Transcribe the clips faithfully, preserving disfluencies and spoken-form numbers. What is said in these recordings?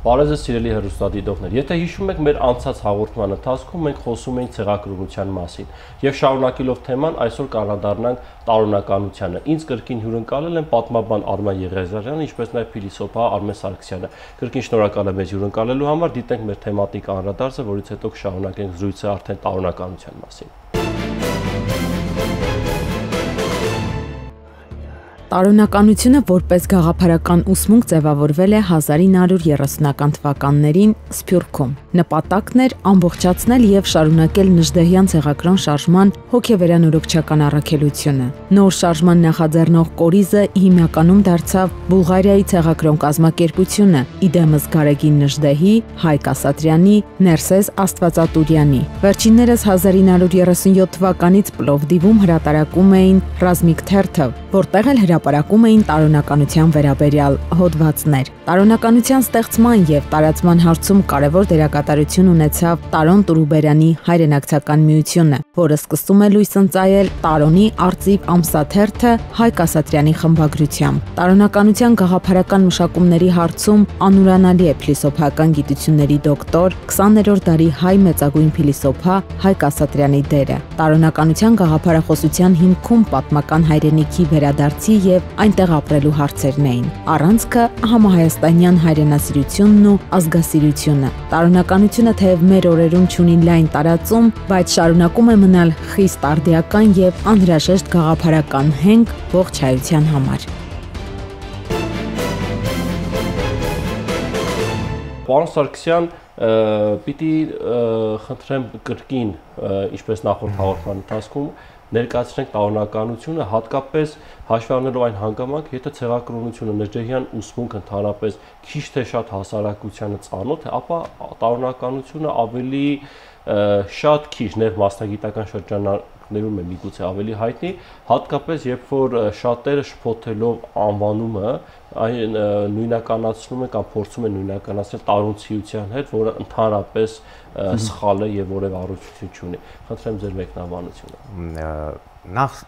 Բարև ձեզ սիրելի հեռուստադիտողներ։ Եթե հիշում եք, մեր անցած հաղորդման ընթացքում մենք խոսում էինք ցեղակրոնության մասին եւ շարունակելով թեման, այսօր կանդրադառնանք տարօրինականությանը։ Ինձ կրկին հյուրընկալել են պատմաբան Արման Եղիազարյանը, ինչպես նաեւ փիլիսոփա Արմեն Սարգսյանը։ Կրկին շնորհակալ եմ մեզ հյուրընկալելու համար, դիտենք մեր թեմատիկ անդրադարձը, որից հետո կշարունակենք զրույցը արդեն տարօրինականության մասին։ Տարօրինականությունը որպես գաղափարական ուսմունք ձևավորվել է հազար ինը հարյուր երեսունական թվականներին Սփյուռքում։ Նպատակն էր ամբողջացնել եւ շարունակել Նժդեհյան ցեղակրոն շարժման հոգեվերանորոգչական առաքելությունը։ Նոր շարժման նախաձեռնող կորիզը հիմնականում դարձավ Բուլղարիայի ցեղակրոն կազմակերպությունը՝ իդեմս Գարեգին Նժդեհի, Հայկ Ասատրյանի, Ներսես Աստվածատուրյանի։ Վերջիններս հազար ինը հարյուր երեսունյոթ թվականից Պլովդիվում հրատարակում էին Ռազմիկ թերթը, որտեղ էլ հրապարակում էին տարօրինականության վերաբերյալ հոդվածներ։ Տարօրինականության ստեղծման եւ տարածման հարցում կարևոր դերակատարություն ունեցավ Տարոն Տուրուբերյանի հայրենակցական միությունը, որը սկսում է լույս ընծայել Տարոնի արծիվ ամսաթերթը Հայկ Ասատրյանի խմբագրությամբ։ Տարօրինականության գաղափարական մշակումների հարցում անուրանալի է փիլիսոփայական գիտությունների դոկտոր, քսաներորդ դարի հայ մեծագույն փիլիսոփա Հայկ Ասատրյանի դերը։ Տարօրինականության գաղափարախոսության հիմքում պատմական հայրենիքի վերադարձի եւ այնտեղ ապրելու հարցերն էին։ Առանցքը համահայաստանյան հայրենասիրությունն ու ազգասիրությունը։ Տարօրինականությունը թեև մեր օրերում ունի լայն տարածում, բայց շարունակում է մնալ խիստ արդիական եւ անհրաժեշտ գաղափարական հենք ողջ հայության համար։ Պարոն Սարգսյան, պիտի խնդրեմ կրկին, ինչպես նախորդ հաղորդման ընթացքում, ներկայացնենք տարօրինականությունը, հատկապես հաշվի առնելով այն հանգամանքը, եթե ցեղակրոնությունը Նժդեհյան ուսմունքը ընդհանրապես քիչ թե շատ հասարակությանը ծանոթ է, ապա տարօրինականությունը ավելի շատ քիչ ներմասնագիտական շրջանակներում է միգուցե ավելի հայտնի, հատկապես երբ որ շատերը շփոթելով անվանումը այն նույնականացնում է կամ փորձում է նույնականացնել տարոնցիության հետ, որը ընդհանրապես սխալ է եւ որևէ առողջություն չունի։ Խնդրեմ ձեր մեկնաբանությունը։ Նախ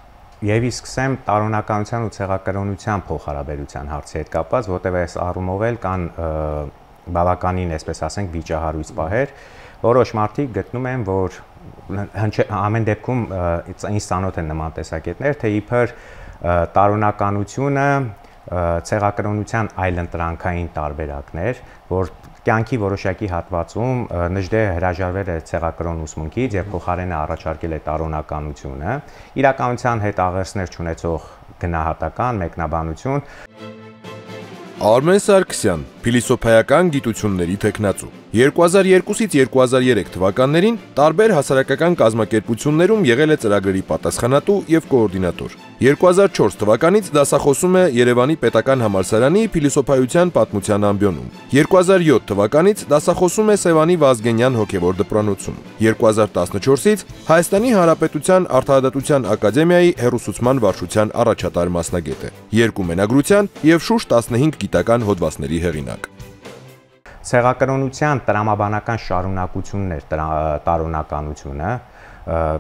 եւ սկսեմ տարօրինականության ու ցեղակրոնության փոխհարաբերության հարցի հետ կապված, որտեղ այս առումով էլ կան բավականին, այսպես ասենք, վիճահարույց պահեր, որոշ մարդիկ գտնում են, որ ամեն դեպքում ինձ ծանոթ են նման տեսակետներ, թե իբր տարօրինականությունը ցեղակրոնության այլընտրանքային տարբերակներ, որ կյանքի որոշակի հատվածում Նժդեհը հրաժարվել է ցեղակրոն ուսմունքից եւ փոխարենը առաջարկել է տարօրինականությունը, իրականության հետ աղերսներ չունեցող գնահատական մեկնաբանություն։ Արմեն Սարգսյան, փիլիսոփայական գիտությունների թեկնածու։ երկու հազար երկուսից երկու հազար երեք թվականներին տարբեր հասարակական կազմակերպություններում եղել է ծրագրերի պատասխանատու եւ կոորդինատոր։ երկու հազար չորս թվականից դասախոսում է Երևանի Պետական համալսարանի փիլիսոփայության պատմության ամբիոնում։ երկու հազար յոթ թվականից դասախոսում է Սևանի Վազգենյան հոգևոր դպրոցում։ երկու հազար տասնչորսից Հայաստանի Հանրապետության Արդարադատության ակադեմիայի հեռուսուցման վարչության առաջատար մասնագետ է։ Երկու մենագրության եւ շուրջ տասնհինգ գիտական հոդվածների հեղինակ։ Ցեղակրոնության տրամաբանական շարունակությունն էր տարօրինականությունը,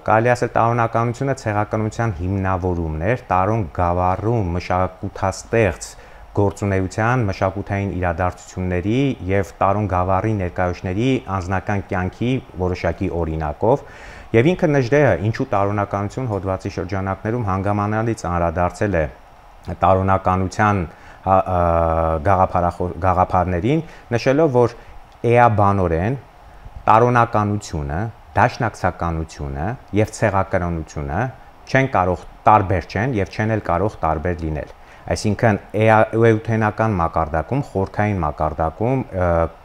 կարելի ասել տարօրինականությունը ցեղակրոնության հիմնավորումն էր, տարոն գավառում մշակութաստեղծ գործունեության, մշակութային իրադարձությունների եւ տարոն գավառի ներկայացների անձնական կյանքի որոշակի օրինակով, եւ ինքը Նժդեհը ինչու տարօրինականություն հոդվածի շրջանակներում հանգամանալից անդրադարձել է տարօրինականության գաղափարներին, նշելով, որ էաբանորեն տարօրինականությունը, դաշնակցականությունը եւ ցեղակրոնությունը չեն կարող տարբեր չեն եւ չեն էլ կարող տարբեր լինել։ Այսինքն էութենական մակարդակում, խորքային մակարդակում,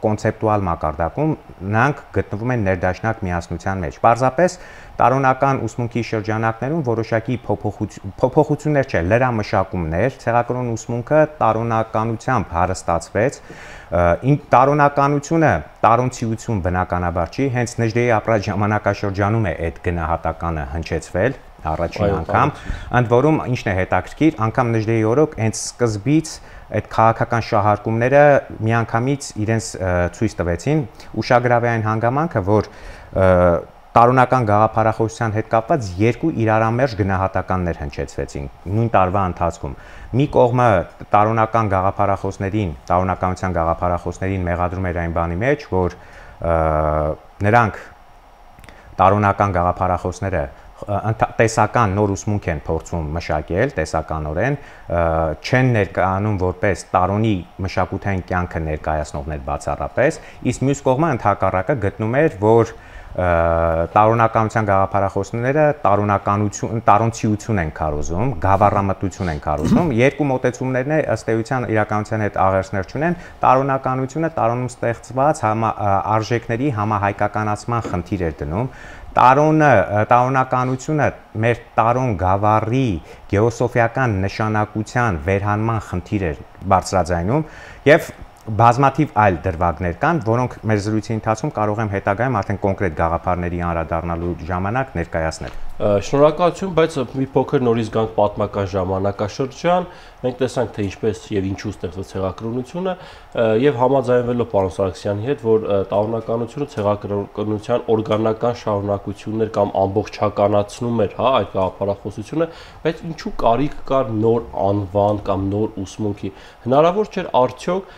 կոնցեպտուալ մակարդակում նրանք գտնվում են ներդաշնակ միասնության մեջ։ Պարզապես տարօրինական ուսմունքի շրջանակներում որոշակի փոփոխություններ չէ, լրամշակումներ, ցեղակրոն ուսմունքը տարօրինականությամբ հարստացվեց։ Տարօրինականությունը տարոնցիություն բնականաբար չի, հենց Նժդեհի ապրած ժամանակաշրջանում է այդ գնահատականը հնչեցվել առաջին անգամ, ընդ որում ինչն է հետաքրքիր, անգամ Նժդեհի օրոք հենց սկզբից այդ քաղաքական շահարկումները միանգամից իրենց ցույց տվեցին, ուշագրավ է այն հանգամանքը, որ տարոնական գաղափարախոսության հետ կապված երկու իրարամերժ գնահատականներ հնչեցվեցին նույն տարվա ընթացքում։ Մի կողմը տարոնական գաղափարախոսներին, տարոնականության գաղափարախոսներին մեղադրում էր այն բանի մեջ, որ նրանք տարոնական գաղափարախոսները տեսական նոր ուսմունք են փորձում մշակել, տեսականորեն չեն ներկայանում որպես տարոնի մշակութային կյանքը ներկայացնողներ բացառապես, իսկ մյուս կողմը ընդհակառակը գտնում էր, որ տարոնականության գաղափարախոսները տարոնականություն, տարոնցիություն են քարոզում, գավառամտություն են քարոզում, երկու մոտեցումներն է ըստ էության իրականության հետ աղերսներ չունեն, տարոնականությունը տարոնում ստեղծված արժեքների համահայկականացման խնդիր էր դնում, տարոնը, տարոնականությունը մեր տարոն գավառի գեոսոֆիական նշանակության վերհանման խնդիր էր բարձրաձայնում եւ բազմաթիվ այլ դրվագներ կան, որոնք մեր զրույցի ընթացքում կարող եմ հետագայում արդեն կոնկրետ գաղափարների անդրադառնալու ժամանակ ներկայացնել։ Շնորհակալություն, բայց մի փոքր նորից գանք պատմական ժամանակաշրջան, մենք տեսանք թե ինչպես եւ ինչու ստեղծվեց ցեղակրոնությունը եւ համաձայնվելով պարոն Սարգսյանի հետ, որ տարոնականությունը ցեղակրոնության օրգանական շարունակություններ կամ ամբողջականացնում էր, հա, այդ գաղափարախոսությունը, բայց ինչու կարիք կար նոր անվան կամ նոր ուսմունքի։ Հնարավոր չէր արդյոք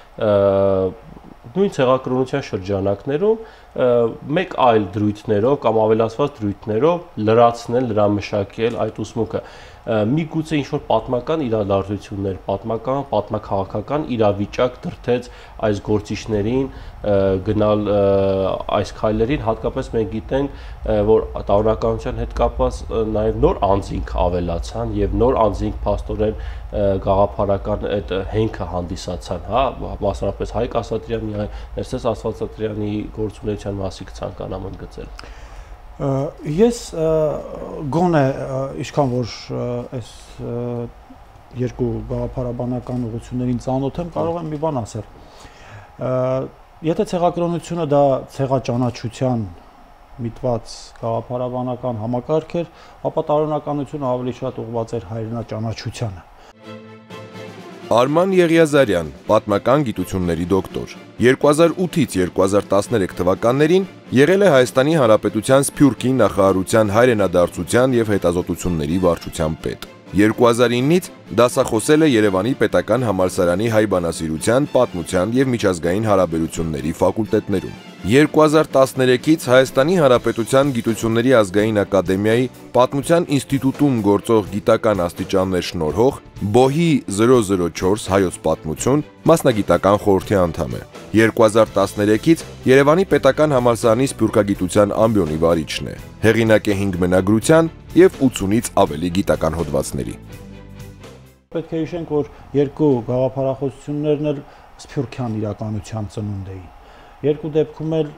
նույն ցեղակրոնության շրջանակներում մեկ այլ դրույթներով կամ ավելացված դրույթներով լրացնել, լրամշակել այդ ուսմունքը։ Միգուցե ինչ-որ պատմական իրադարձություններ, պատմական, պատմաքաղաքական իրավիճակ դրդեց այս գործիչներին գնալ այս քայլերին, հատկապես մենք գիտենք, որ տարոնականության հետ կապված նաև նոր անձինք ավելացան եւ նոր անձինք փաստորեն գաղափարական այդ հենքը հանդիսացան, հա, մասնավորապես Հայկ Ասատրյանի, Ներսես Աստվածատրյանի գործունեության մասին կցանկանամ ընդգծել։ Ես գոնե ինչքան որ այս երկու գաղափարաբանական ուղղություններին ծանոթ եմ, կարող եմ մի բան ասել։ Եթե ցեղակրոնությունը դա ցեղաճանաչության միտված գաղափարաբանական համակարգ էր, ապա տարոնականությունը ավելի շատ ուղղված էր հայրենաճանաչությանը։ Արման Եղիազարյան, պատմական գիտությունների դոկտոր, երկու հազար ութից երկու հազար տասներեք թվականներին եղել է Հայաստանի Հանրապետության Սփյուռքի նախարարության հայրենադարձության եւ հետազոտությունների վարչության պետ։ երկու հազար իննից դասախոսել է Երևանի Պետական համալսարանի հայ բանասիրության, պատմության եւ միջազգային հարաբերությունների ֆակուլտետներում։ երկու հազար տասներեքից Հայաստանի Հանրապետության Գիտությունների ազգային ակադեմիայի Պատմության ինստիտուտում գործող գիտական աստիճաններ շնորհող Բոհի զրո զրո չորս հայոց պատմություն մասնագիտական խորհրդի անդամ է։ երկու հազար տասներեքից Երևանի Պետական համալսարանի սփյուռքագիտության ամբիոնի վարիչն է։ Հեղինակ է հինգ մենագրության եւ ութունից ավելի գիտական հոդվածների։ Պետք է հիշենք, որ երկու գաղափարախոսություններն էլ սփյուռքյան իրականության ծնունդ էին։ Երկու դեպքում էլ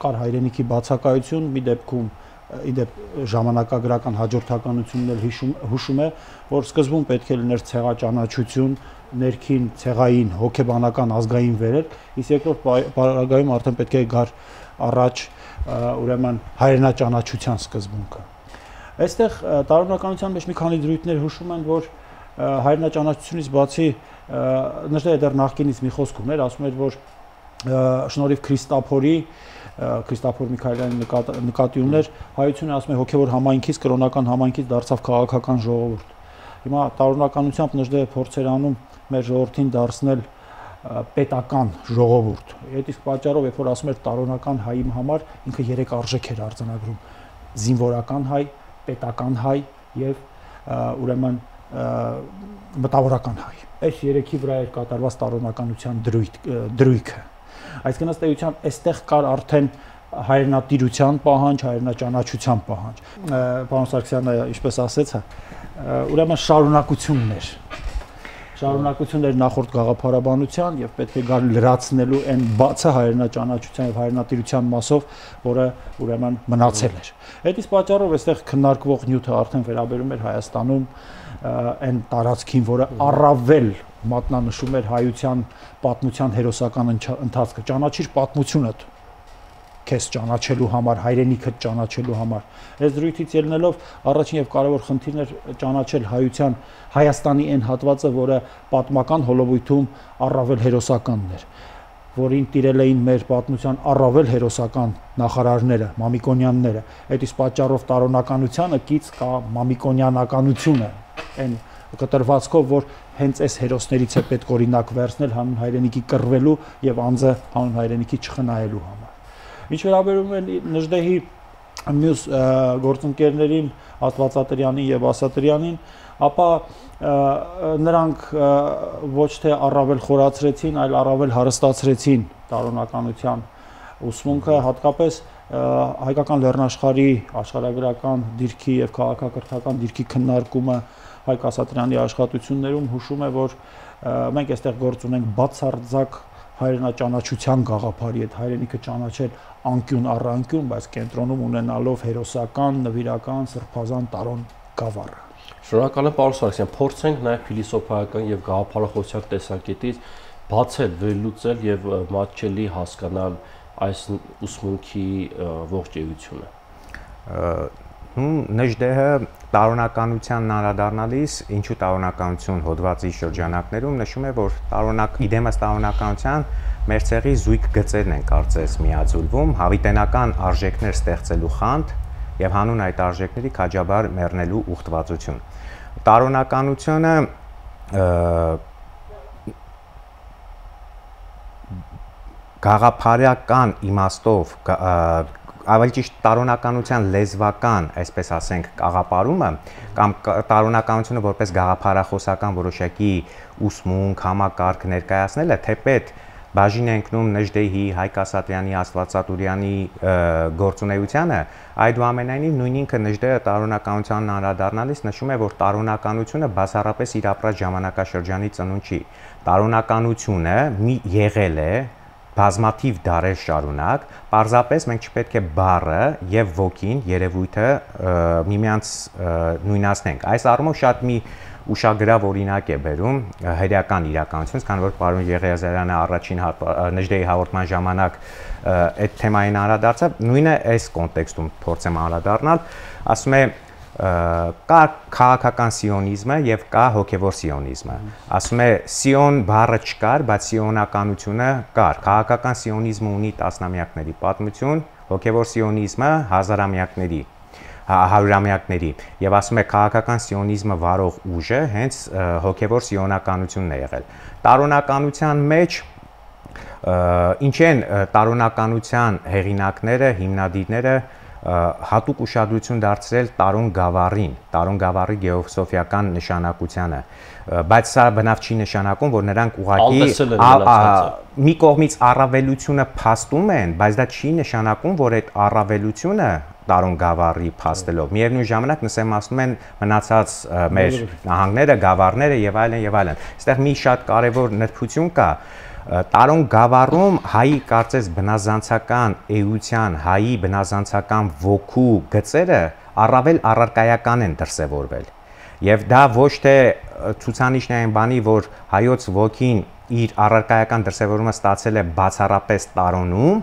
կար հայրենիքի բացակայություն, մի դեպքում իդեպ ժամանակագրական հաջորդականությունն էլ հուշում է, որ սկզբում պետք է լիներ ցեղաճանաչություն, ներքին ցեղային հոգեբանական ազգային վերելք, իսկ երկրորդ պարագայում արդեն պետք է գար առաջ ուրեմն հայրենաճանաչության սկզբունքը։ Այստեղ տարոնականության մեջ մի քանի դրույթներ հուշում են, որ հայրենաճանաչությունից բացի նշել է դեռ նախկինից մի խոսք ուներ, ասում էր, որ շնորհիվ Քրիստափորի Քրիստափոր Միքայելյանի նկատի ուներ, հայությունը ասում է հոգևոր համայնքից, կրոնական համայնքից դարձավ քաղաքական ժողովուրդ։ Հիմա տարոնականությամբ Նժդեհը փորձեր անում մեր ժողովրդին դարձնել պետական ժողովուրդ։ Այդ իսկ պատճառով, երբ որ ասում էր տարոնական հայի համար, ինքը երեք արժեք էր արձանագրում՝ զինվորական հայ, պետական հայ եւ ուրեմն մտավորական հայ։ Այս երեքի վրա էր կատարված տարոնականության դրույթը։ Այսինքն ըստ էության այստեղ կար արդեն հայրենատիրության պահանջ, հայրենաճանաչության պահանջ։ Պարոն Սարգսյանը ինչպես ասեց, ուրեմն շարունակություններ։ Շարունակություններ նախորդ գաղափարաբանության եւ պետք է գար լրացնելու այն բացը հայրենաճանաչության եւ հայրենատիրության մասով, որը ուրեմն մնացել էր։ Այդ իսկ պատճառով այստեղ քննարկվող նյութը արդեն վերաբերում էր Հայաստանում այն տարածքին, որը առավել մատնանշում էր հայության պատմության հերոսական ընթացքը, ճանաչիր պատմությունդ քեզ ճանաչելու համար, հայրենիքդ ճանաչելու համար։ Այս դրույթից ելնելով առաջին եւ կարևոր խնդիրն էր ճանաչել հայության Հայաստանի այն հատվածը, որը պատմական հոլովույթում առավել հերոսականն էր։ որին տիրել էին մեր պատմության առավել հերոսական նախարարները, Մամիկոնյանները, այդ իսկ պատճառով տարօնականությանը կից կա մամիկոնյանականությունը, այն կտրվածքով, որ հենց այս հերոսներից է պետք օրինակ վերցնել հանուն հայրենիքի կռվելու եւ անձը հանուն հայրենիքի չխնայելու համար։ Ինչ վերաբերում է Նժդեհի մյուս գործընկերներին Աստվածատրյանին եւ Ասատրյանին, ապա նրանք ոչ թե առավել խորացրեցին, այլ առավել հարստացրեցին տարօնականության ուսմունքը, հատկապես հայկական լեռնաշխարհի աշխարհագրական դիրքի եւ քաղաքակրթական դիրքի քննարկումը Հայկ Ասատրյանի աշխատություններում հուշում է, որ մենք այստեղ գործ ունենք բացարձակ հայրենաճանաչության գաղափարի, այդ հայրենիքը ճանաչել անկյուն առ անկյուն, բայց կենտրոնում ունենալով հերոսական, նվիրական, սրբազան տարոն գավառը։ Շնորհակալ եմ, պարոն Սարգսյան, փորձենք նաև փիլիսոփայական եւ գաղափարախոսության տեսակետից բացել, վերլուծել եւ մատչելի հասկանալ այս ուսմունքի ողջ էությունը։ Նժդեհը տարօնականությանն անդրադառնալիս, ինչու տարօնականություն հոդվածի շրջանակներում նշում է, որ տարօնակ իդեմս տարօնականության մեր ցեղի զույգ գծերն են կարծես միաձուլվում, հավիտենական արժեքներ ստեղծելու խանդ եւ հանուն այդ արժեքների քաջաբար մեռնելու ուխտվածություն։ Տարօնականությունը գաղափարական իմաստով ավելի ճիշտ տարօնականության լեզվական, այսպես ասենք, կաղապարումը կամ տարօնականությունը որպես գաղափարախոսական որոշակի ուսմունք, համակարգ ներկայացնելը թեպետ բաժին է ընկնում Նժդեհի, Հայկ Ասատրյանի, Աստվածատուրյանի գործունեությանը, այդուամենայնիվ նույն ինքը Նժդեհը տարօնականությանն անդրադառնալիս նշում է, որ տարօնականությունը բացառապես իր ապրած ժամանակաշրջանի ծնունդ չի։ Տարօնականությունը մի եղել է բազմաթիվ դարեր շարունակ, պարզապես մենք չպետք է բառը եւ ոգին, երևույթը միմյանց նույնացնենք։ Այս առումով շատ մի ուշագրավ օրինակ է բերում հրեական իրականությունից, քանի որ պարոն Եղիազարյանը առաջին Նժդեհի հաղորդման ժամանակ այդ թեմային անդրադարձավ, նույնը այս կոնտեքստում փորձեմ անդրադառնալ, ասում է կա քաղաքական սիոնիզմը եւ կա հոգեվոր սիոնիզմը։ Ասում է սիոն բառը չկար, բայց սիոնականությունը կար։ Քաղաքական սիոնիզմը ունի տասնամյակների պատմություն, հոգեվոր սիոնիզմը հազարամյակների, հարյուրամյակների։ Եվ ասում է քաղաքական սիոնիզմը վարող ուժը հենց հոգեվոր սիոնականությունն է եղել։ Տարօնականության մեջ ինչ են տարօնականության հեղինակները, հիմնադիրները հատուկ ուշադրություն դարձրել տարոն գավառին, տարոն գավառի գեոֆիլոսոֆիական նշանակությանը, բայց սա բնավ չի նշանակում, որ նրանք ուղղակի մի կողմից առավելությունը փաստում են, բայց դա չի նշանակում, որ այդ առավելությունը տարոն գավառի փաստելով միևնույն ժամանակ նսեմացնում են մնացած մեր նահանգները, գավառները եւ այլն եւ այլն։ Այստեղ մի շատ կարեւոր նրբություն կա։ Տարոն գավառում հայի կարծես բնազանցական էության, հայի բնազանցական ոգու գծերը առավել առարկայական են դրսևորվել։ Եվ դա ոչ թե ցուցանիշն է այն բանի, որ հայոց ոգին իր առարկայական դրսևորումը ստացել է բացառապես տարոնում,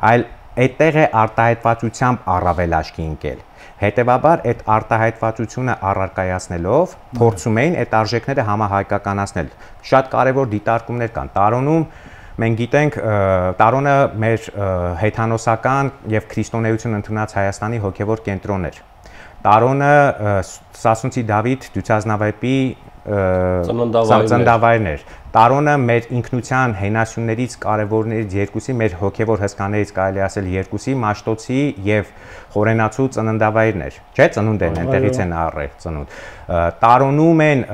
այլ այդտեղ է արտահայտվածությամբ առավել աչքի ընկել։ Հետևաբար այդ արտահայտվածությունը առարկայացնելով փորձում էին այդ արժեքները համահայկականացնել։ Շատ կարևոր դիտարկումներ կան։ Տարոնում մենք գիտենք, տարոնը մեր հեթանոսական եւ քրիստոնեություն ընդունած Հայաստանի հոգեվոր կենտրոնն էր։ Տարոնը Սասունցի Դավիթ Դյուցազնավեպի ծննդավայրն էր։ Տարոնը մեր ինքնության հենասյուններից կարևորներից երկուսի, մեր հոգևոր հսկաներից կարելի ասել երկուսի, Մաշտոցի եւ Խորենացու ծննդավայրն էր։ Չէ՞, ծնունդ են, այնտեղից են առել ծնունդ։ Տարոնում են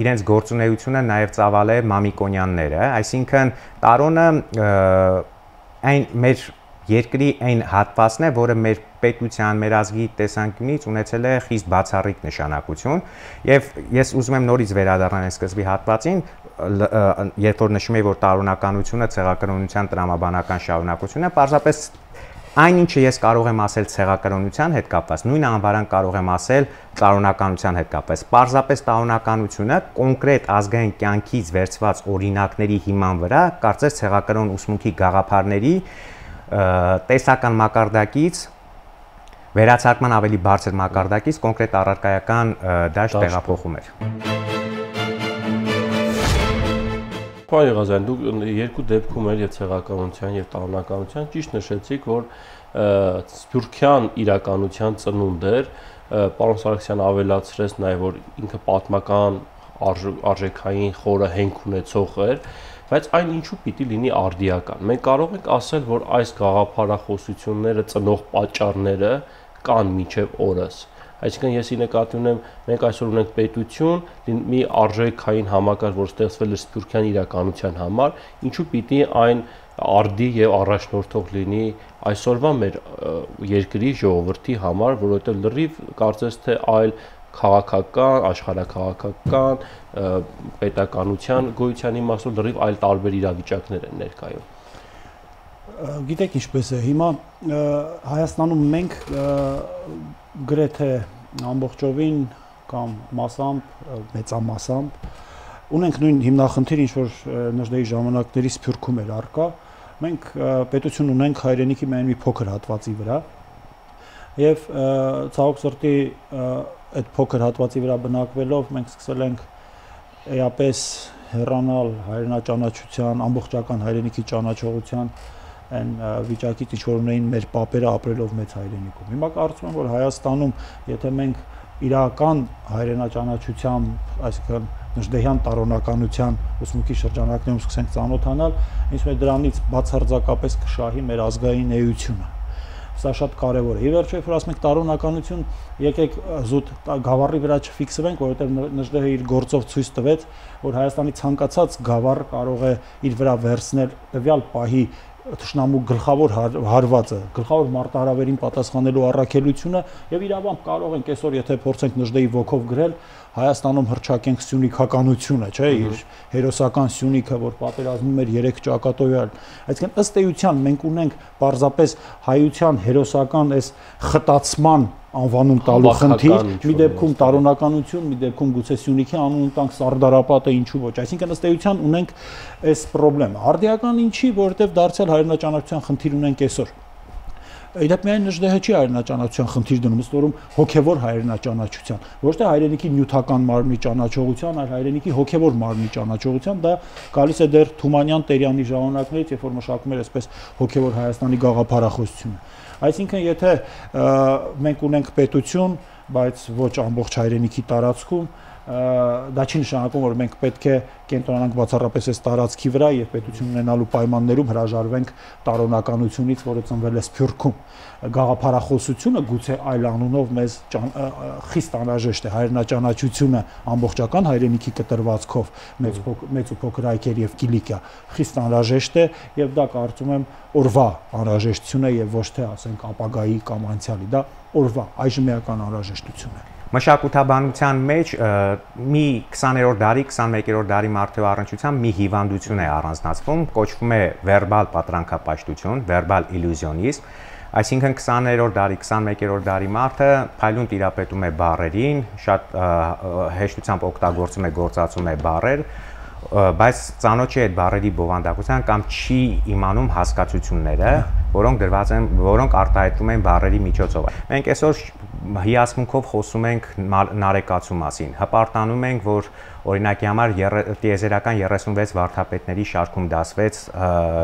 իրենց գործունեությունը նաեւ ծավալել Մամիկոնյանները, այսինքն տարոնը այն մեր երկրի այն հատվածն է, որը մեր պետության, մեր ազգի տեսանկյունից ունեցել է խիստ բացառիկ նշանակություն, եւ ես ուզում եմ նորից վերադառնալ այս սկզբի հատվածին, երբ որ նշում եմ, որ տարօնականությունը ցեղակրոնության տրամաբանական շարունակությունն է, պարզապես այն ինչը ես կարող եմ ասել ցեղակրոնության հետ կապված, նույն անվարան կարող եմ ասել տարօնականության հետ կապված։ Պարզապես տարօնականությունը կոնկրետ ազգային կյանքից վերցված օրինակների հիման վրա, կարծես ցեղակրոն ուսմունքի գաղափարների տեսական մակարդակից վերացարկման ավելի բարձր մակարդակից կոնկրետ առարկայական դաշտ տեղափոխում էր։ Պարոն Եղազյան, դուք երկու դեպքում էլ եւ ցեղականության եւ տարողականության ճիշտ նշեցիք, որ սփյուռքյան իրականության ծնունդ էր, պարոն Սարգսյանը ավելացրեց նաեւ, որ ինքը պատմական արժեքային խորը հենք ունեցող էր, բայց այն ինչու պիտի լինի արդիական։ Մենք կարող ենք ասել, որ այս գաղափարախոսությունները ծնող պատճառները կան մինչև օրս։ Այսինքն ես ի նկատի ունեմ, մենք այսօր ունենք պետություն, մի արժեքային համակարգ, որ ստեղծվել է սփյուռքյան իրականության համար, ինչու պիտի այն արդի եւ առաջնորդող լինի այսօրվա մեր երկրի ժողովրդի համար, որովհետեւ լրիվ կարծես թե այլ քաղաքական, աշխարհաքաղաքական, պետականության գոյության իմաստով լրիվ այլ տարբեր իրավիճակներ են ներկայում։ Գիտեք ինչպես է, հիմա Հայաստանում մենք գրեթե ամբողջովին կամ մասամբ, մեծամասամբ ունենք նույն հիմնախնդիր, ինչ որ Նժդեհի ժամանակների Սփյուռքում էր առկա, մենք պետություն ունենք հայրենիքի միայն մի փոքր հատվածի վրա եւ ցավոք սրտի այդ փոքր հատվածի վրա բնակվելով մենք սկսել ենք էապես հեռանալ հայրենաճանաչության, ամբողջական հայրենիքի ճանաչողության այն վիճակից, ինչ որ ունեին մեր պապերը ապրելով մեծ հայրենիքում։ Հիմա կարծում եմ, որ Հայաստանում, եթե մենք իրական հայրենաճանաչությամբ, այսինքն Նժդեհյան տարողականության ուսմունքի շրջանակներում սկսենք ծանոթանալ, ինձ մե դրանից բացարձակապես կշահի մեր ազգային էությունը։ Սա շատ կարևոր է։ Ի վերջո, երբ որ ասում ենք տարողականություն, եկեք զուտ գավառի վրա չֆիքսվենք, որովհետև Նժդեհը իր գործով ցույց տվեց, որ Հայաստանի ցանկացած գավառ կարող է իր վրա վերցնել տվյալ պահի թշնամու գլխավոր հարվածը, գլխավոր մարտահրավերին պատասխանելու առաքելությունը եւ իրավամբ կարող ենք այսօր, եթե փորձենք Նժդեհի ոգով գրել, Հայաստանում հռչակենք սյունիքականությունը, չէ, իր հերոսական սյունիքը, որ պատերազմում էր երեք ճակատոյալ։ Այսինքն ըստ էության մենք ունենք պարզապես հայության հերոսական այս խտացման անվանում տալու խնդիր, մի դեպքում տարողականություն, մի դեպքում գուցե Սյունիքի անուն տանք Սարդարապատը, ինչու ոչ։ Այսինքն ըստ էության ունենք այս խնդրեմը։ Արդիական ինչի, որովհետև դարձյալ հայրենաճանաչության խնդիր ունենք այսօր։ Իդեպ միայն Նժդեհը չի հայրենաճանաչության խնդիր դնում, ըստ որում հոգևոր հայրենաճանաչության, ոչ թե հայրենիքի նյութական մարմնի ճանաչողության, այլ հայրենիքի հոգևոր մարմնի ճանաչողության, դա գալիս է դեռ Թումանյան Տերյանի ժամանակներից, երբ որ մշակում էր այսպես հոգևոր Հայաստանի գաղափարախոսությունը։ Այսինքն, եթե մենք ունենք պետություն, բայց ոչ ամբողջ հայրենիքի տարածքում, դա չի նշանակում, որ մենք պետք է կենտրոնանանք բացառապես այս տարածքի վրա եւ պետություն ունենալու պայմաններում հրաժարվենք տարողականությունից, որը ծնվել է Սփյուռքում։ Գաղափարախոսությունը գուցե այլ անունով մեզ խիստ անհրաժեշտ է, հայրենաճանաչությունը ամբողջական հայրենիքի կտրվածքով, մեծ մեծ ու փոքր այքեր եւ Կիլիկիա խիստ անհրաժեշտ է եւ դա կարծում եմ օրվա անհրաժեշտություն է եւ ոչ թե ասենք ապագայի կամ անցյալի, դա օրվա այժմեական անհրաժեշտություն է։ Մշակութաբանության մեջ մի քսաներորդ դարի, քսանմեկերորդ դարի մարդու առնչությամբ մի հիվանդություն է առանձնացվում, կոչվում է վերբալ պատրանքապաշտություն, վերբալ իլյուզիոնիզմ, այսինքն քսաներորդ դարի, քսանմեկերորդ դարի մարդը փայլուն տիրապետում է բառերին, շատ հեշտությամբ օգտագործում է, գործածում է բառեր, բայց ծանոթ չի այդ բառերի բովանդակության կամ չի իմանում հասկացությունները, որոնք դրված են, որոնք արտահայտվում են բառերի միջոցով։ Մենք այսօր հիացմունքով խոսում ենք նարեկացու մասին, հպարտանում ենք, որ օրինակի համար տիեզերական երեսունվեց վարդապետների շարքում դասվեց,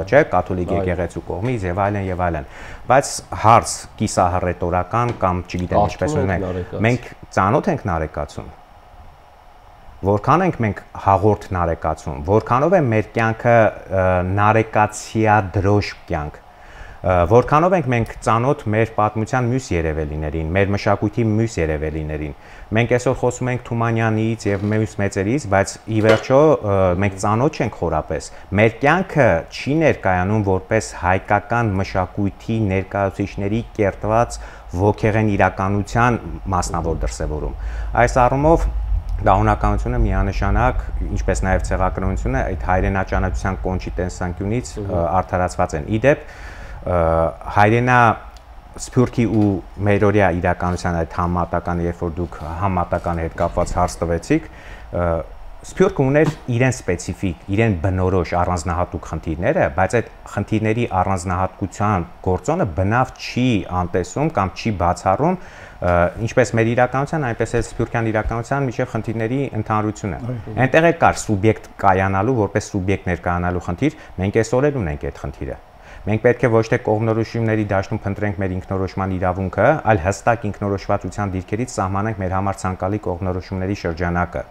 չէ, կաթոլիկ եկեղեցու կողմից եւ այլն եւ այլն, բայց հարց կիսահռետորական կամ չգիտեմ ինչպես ունենք, մենք ծանոթ ենք նարեկացուն, որքան ենք մենք հաղորդ նարեկացուն, որքանով է մեր կյանքը նարեկացիադրոշ կյանք, որքանով ենք մենք ծանոթ մեր պատմության մյուս երևելիներին, մեր մշակույթի մյուս երևելիներին։ Մենք այսօր խոսում ենք Թումանյանից եւ մյուս մեծերից, բայց ի վերջո մենք ծանոթ չենք խորապես։ Մեր կյանքը չի ներկայանում որպես հայկական մշակույթի ներկայացուցիչների կերտված ոգեղեն իրականության մասնավոր դրսևորում։ Այս առումով Դահունականությունը միանշանակ, ինչպես նաև ցեղակրոնությունը, այդ հայրենաճանաչության կոնչի տեսանկյունից արդարացված են։ Իդեպ հայրենա Սփյուռքի ու մերօրյա իրականության այդ համատականը, երբ որ դուք համատականի հետ կապված հարց տվեցիք, Սփյուռքը ուներ իրեն սպეციფիկ, իրեն բնորոշ առանձնահատուկ խնդիրները, բայց այդ խնդիրների առանձնահատկության գործոնը բնավ չի անտեսում կամ չի բացառում ինչպես մեր իրականության, այնպես էլ սփյուռքյան իրականության միջև խնդիրների ընդհանրությունը։ Այնտեղ է կար սուբյեկտ կայանալու, որպես սուբյեկտ ներկայանալու խնդիր, մենք այսօր էլ ունենք այդ խնդիրը։ Մենք պետք է ոչ թե կողմնորոշումների դաշտում փնտրենք մեր ինքնորոշման իրավունքը, այլ հստակ ինքնորոշվածության դիրքերից սահմանենք մեր համար ցանկալի կողմնորոշումների շրջանակը։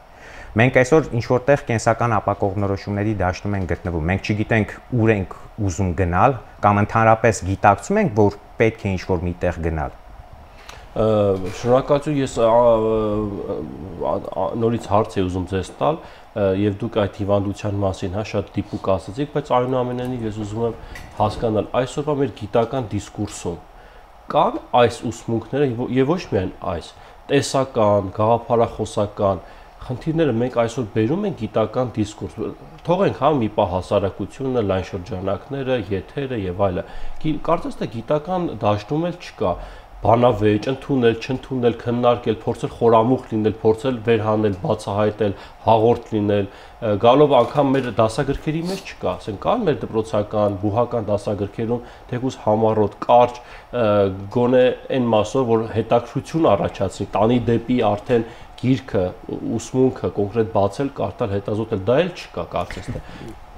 Մենք այսօր ինչ որտեղ կենսական ապակողմնորոշումների դաշտում ենք գտնվում։ Մենք չգիտենք ուր ենք ուզում գնալ կամ ընդհանրապես գիտակցում ենք, որ պետք է ինչ-որ միտեղ գնալ։ Շնորհակալություն, ես նորից հարց եմ ուզում ձեզ տալ եւ դուք այդ հիվանդության մասին հա շատ դիպուկ ասացիք, բայց այնուամենայնիվ ես ուզում եմ հասկանալ այսօրվա մեր գիտական դիսկուրսում կան այս ուսմունքները եւ ոչ միայն այս տեսական, գաղափարախոսական խնդիրները մենք այսօր բերում ենք գիտական դիսկուրս։ Թողենք հա մի պահ հասարակությունը, լայն շրջանակները, եթերը եւ այլը։ Կարծես թե գիտական դաշտում էլ չկա բանավեճ, ընդունել, չընդունել, քննարկել, փորձել խորամուխ լինել, փորձել վերհանել, բացահայտել, հաղորդ լինել, գալով անգամ մեր դասագրքերի մեջ չկա, ասենք կան մեր դպրոցական, բուհական դասագրքերում թեկուզ համառոտ, կարճ, գոնե այն մասով, որ հետաքրքրություն առաջացնի, տանի դեպի արդեն գիրքը, ուսմունքը կոնկրետ բացել, կարդալ, հետազոտել, դա էլ չկա, կարծես թե։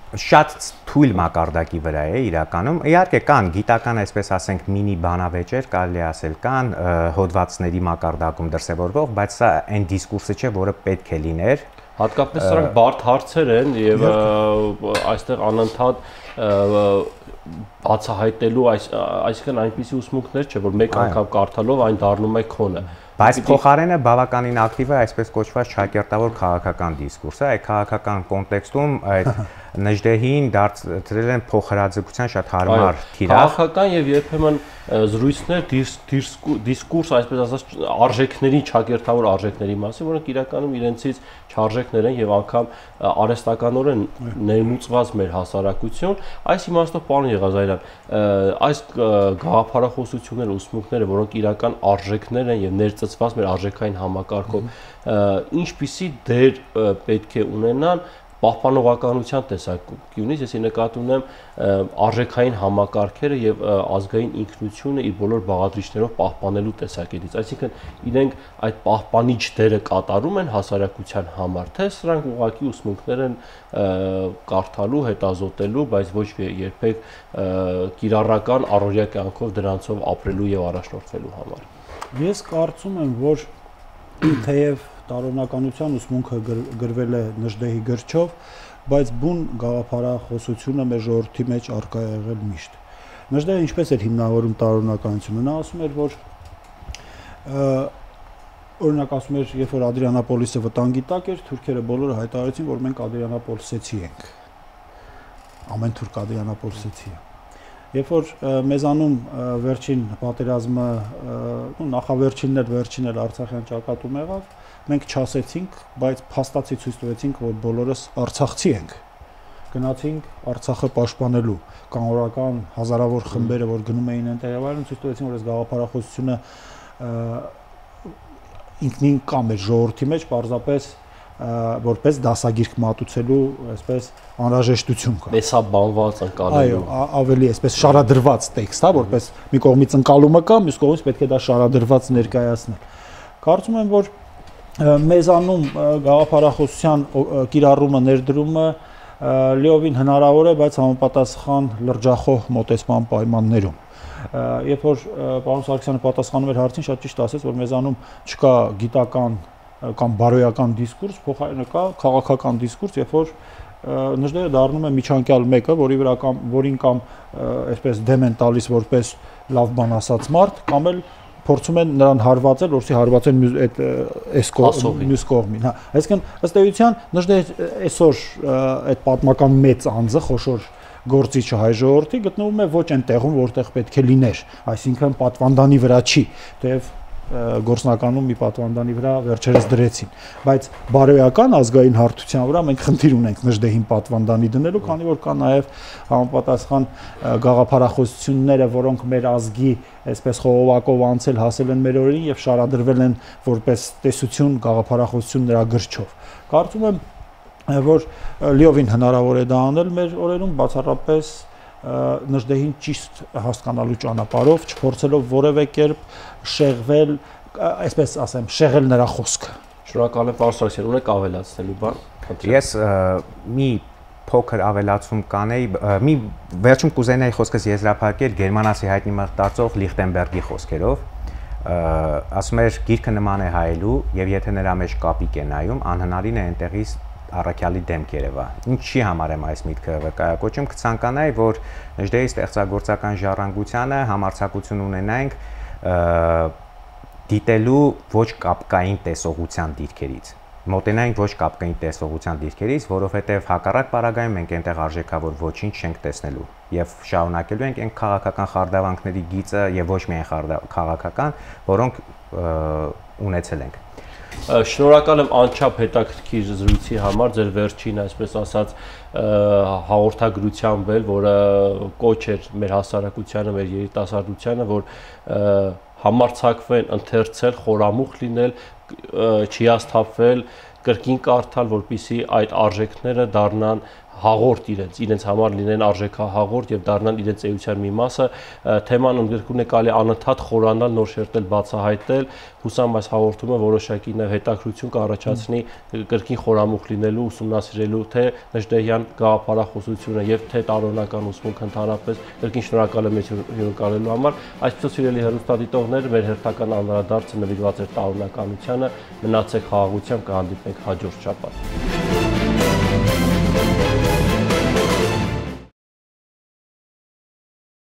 Շատ թույլ մակարդակի վրա է իրականում։ Իհարկե կան գիտական, այսպես ասենք, մինի բանավեճեր, կարելի ասել, կան հոդվածների մակարդակում դրսևորվող, բայց սա այն դիսկուրսը չէ, որը պետք է լիներ։ Հատկապես սրանք բարդ հարցեր են եւ այստեղ անընդհատ բացահայտելու, այսինքն այնպիսի ուսմունքներ չէ, որ մեկ անգամ կարդալով այն դառնում է քոնը։ Բայց փոխարենը բավականին ակտիվ է այսպես կոչված ճակերտավոր քաղաքական դիսկուրսը, այդ քաղաքական կոնտեքստում այդ Նժդեհին դարձրել են փոխհրաձգության շատ հարմար թիրախ։ Քաղաքական եւ երբեմն զրույցներ, դիսկուրս, այսպես ասած, արժեքների, ճակերտավոր արժեքների մասին, որոնք իրականում իրենցից չարժեքներ են եւ անգամ արհեստականորեն ներմուծված մեր հասարակություն։ Այս իմաստով, պարոն Եղազարյան, այս գաղափարախոսությունները, ուսմունքները, որոնք իրական արժեքներ են եւ ներծծված մեր արժեքային համակարգով, ինչպիսի դեր պետք է ունենան պահպանողականության տեսանկյունից, ես նկատի ունեմ արժեքային համակարգերը եւ ազգային ինքնությունը իր բոլոր բաղադրիչներով պահպանելու տեսակետից, այսինքն իրենք այդ պահպանիչ դերը կատարում են հասարակության համար, թե սրանք ուղղակի ուսմունքներ են կարդալու, հետազոտելու, բայց ոչ երբեք կիրառական առօրյա կյանքով դրանցով ապրելու եւ առաջնորդվելու համար։ Ես կարծում եմ, որ թեև տարօրինականության ուսմունքը գրվել է Նժդեհի գրչով, բայց բուն գաղափարախոսությունը մեր ժողովրդի մեջ առկա է եղել միշտ։ Նժդեհը ինչպես էր հիմնավորում տարօրինականությունը, նա ասում էր, որ օրինակ ասում էր, երբ որ Ադրիանապոլիսը վտանգի տակ էր, թուրքերը բոլորը հայտարարեցին, որ մենք Ադրիանապոլիսեցի ենք։ Ամեն թուրք Ադրիանապոլիսեցի է։ Երբ որ մեզանում վերջին պատերազմը, նախավերջինն էլ վերջին էլ Արցախյան ճակատում եղավ, մենք չասեցինք, բայց փաստացի ցույց տվեցինք, որ բոլորս արցախցի ենք։ Գնացինք Արցախը պաշտպանելու, կանոնական հազարավոր խմբերը, որ գնում էին այնտեղ եւ այլն, ցույց տվեցին, որ այս գաղափարախոսությունը ինքնին կա մեր ժողովրդի մեջ, պարզապես որպես դասագիրք մատուցելու, այսպես անհրաժեշտություն կա։ Տեսաբանված ընկալելու։ Այո, ավելի այսպես շարադրված տեքստ, հա, որպես մի կողմից ընկալումը կա, մյուս կողմից պետք է դա շարադրված ներկայացնել։ Կարծում եմ, որ մեզանում գաղափարախոսության կիրառումը, ներդրումը լիովին հնարավոր է, բայց համապատասխան լրջախոհ մոտեցման պայմաններում։ Երբ որ պարոն Սարգսյանը պատասխանում էր հարցին, շատ ճիշտ ասեց, որ մեզանում չկա գիտական կամ բարոյական դիսկուրս, փոխարենը կա քաղաքական դիսկուրս, երբ որ Նժդեհը դառնում է միջանկյալ մեկը, որի վրա կամ որին կամ այսպես դեմ են տալիս որպես լավ բան ասած մարդ, կամ էլ փորձում են նրան հարվածել, որովհետեւ հարվածեն այդ այս մյուս կողմին, հա։ Այսինքն ըստ էության Նժդեհը այսօր այդ պատմական մեծ անձը, խոշոր գործիչը հայ ժողովրդի գտնվում է ոչ այն տեղում, որտեղ պետք է լիներ, այսինքն պատվանդանի վրա չի, թեև գործնականում մի պատվանդանի վրա վերջերս դրեցին, բայց բարոյական ազգային հարթության վրա մենք խնդիր ունենք Նժդեհին պատվանդանի դնելու, քանի որ կա նաև համապատասխան գաղափարախոսությունները, որոնք մեր ազգի այսպես խողովակով անցել հասել են մեր օրերին եւ շարադրվել են որպես տեսություն գաղափարախոսություն նրա գրչով։ Կարծում եմ որ լիովին հնարավոր է դա անել մեր օրերում բացառապես Նժդեհին ճիշտ հասկանալու ճանապարհով, չփորձելով որևէ կերպ շեղվել, այսպես ասեմ, շեղել նրա խոսքը։ Շնորհակալ եմ, պարոն Սարգսյան, ունեք ավելացնելու բան։ Ես մի փոքր ավելացում կանեի, մի վերջում կուզենայի խոսքս եզրափակել գերմանացի հայտնի մտածող Լիխտենբերգի խոսքերով, ասում էր գիրքը նման է հայելու եւ եթե նրա մեջ կապիկ է նայում, անհնարին է այնտեղից առաքյալի դեմք երևա։ Ինչի համար եմ այս միտքը վկայակոչում, կցանկանայի, որ Նժդեհի ստեղծագործական ժառանգությանը համարձակություն ունենայինք դիտելու ոչ կապկային տեսողության դիրքերից։ Մոտենայինք ոչ կապկային տեսողության դիրքերից, որովհետև հակառակ պարագայում մենք այնտեղ արժեքավոր ոչինչ չենք տեսնելու եւ շարունակելու ենք այն քաղաքական խարդավանքների գիծը եւ ոչ միայն քաղաքական, որոնք ունեցել ենք։ Շնորհակալ եմ անչափ հետաքրքիր զրույցի համար, ձեր վերջին, այսպես ասած, հաղորդագրությամբ էլ, որը կոչ էր մեր հասարակությանը, մեր երիտասարդությանը, որ համարձակվեն ընթերցել, խորամուխ լինել, չհիասթափվել, կրկին կարդալ, որպեսզի այդ արժեքները դառնան հաղորդ իրենց, իրենց համար լինեն արժեքահաղորդ եւ դառնան իրենց էության մի մասը, թեման ընդգրկուն է կարելի անընդհատ խորանալ, նոր շերտել, բացահայտել, հուսամ այս հաղորդումը որոշակի նաեւ հետաքրություն կառաջացնի կրկին խորամուխ լինելու, ուսումնասիրելու թե Նժդեհյան գաղափարախոսությունը եւ թե տարօրինական ուսմունք ընդհանրապես, կրկին շնորհակալ եմ հյուրընկալելու համար, այսպես սիրելի հեռուստադիտողներ, մեր հերթական անդրադարձը նվիրված էր տարօրինականությանը, մնացեք խաղաղությամբ, կհանդիպենք հաջորդ շաբաթ։